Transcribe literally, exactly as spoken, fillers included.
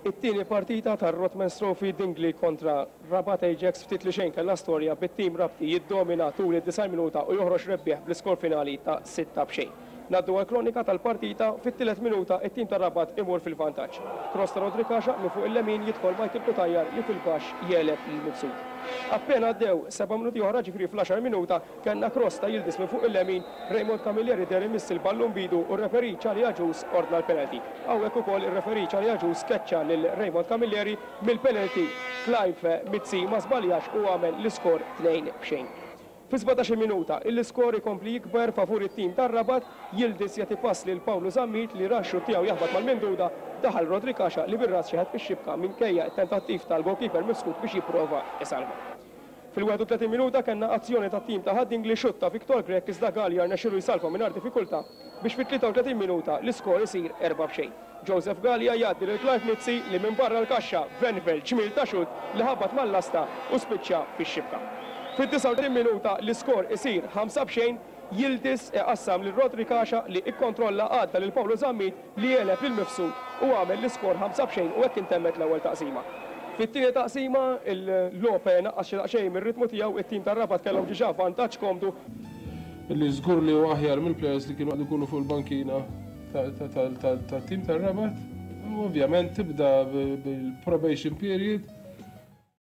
It-tieni partita tar-Rothmans Trophy, Dingli kontra Rabat Ajax, ftit li xejn kellha storja, bit-tim Rabti jiddomina tul id-disgħin minuta u joħroġ rebbieħ bl-iskor finali ta' sitta b'xejn. Ngħaddu għal kronika tal-partita. Fit-tielet minuta it-tim tar-Rabat imur fil-vantaġġ. Cross ta' Rodri Kaxa minn fuq il-lemin, jidħol Michael Cutajar li fil-baxx jegħleb lil Mifsud. Appena għaddew seba' minuti oħra, ġifieri fl-għaxar minuta, kellna cross ta' Yildiz minn fuq il-lemin, Raymond Camilleri deher imiss il-ballun b'idu u r-referee Charlie Agius ordna l-penalty. Hawnhekk ukoll ir-referee Charlie Agius keċċa lil Raymond Camilleri. Mill-penalty Clive Mizzi ma żbaljax u għamel l-iskor tnejn b'xejn. Fi sbatax-il minuta, l-iskor ikompli jikber favur it-tim tar-Rabat. Yildiz jagħti pass lil Paolo Zammit li ra x-xutt tiegħu jaħbat mal-minduda, daħal Rodri Kaxa li bir-ras xeħet fix-xibka minkejja tentattiv tal-goalkeeper Mifsud biex jipprova isalva. Fil-wieħed u tletin minuta kellna azzjoni ta' tim ta' Ħad-Dingli, xutt ta' Victor Grech, iżda Galea rnexxielu jsalva mingħajr diffikultà biex fit-tlieta u tletin minuta l-iskor isir erba' b'xejn. Joseph Galea jgħaddi lil Clive Mizzi li minn barra l-kaxxa venvel ġmil ta' xutt li ħabat mal-lasta u spiċċa fix-xibka. Fid-disgħa u tletin minuta l-iskor isir ħamsa b'xejn. Yildiz iqassam lil Rodri Kaxa li ikkontrolla, għadda lil Paolo Zammit li għeleb lil Mifsud u għamel l-iskor ħamsa b'xejn, u hekk intemmet l-ewwel taqsima. Fit-tieni taqsima il-logħob naqqas xi daqsxejn mir-ritmu tiegħu, it-tim tar-Rabat kellhom diġà vantaġġ komdu. Illi żgur li huwa aħjar mill-players li kienu ikunu fuq il-bankina tat-tim tar-Rabat. U ovvjament tibda bil-probation period.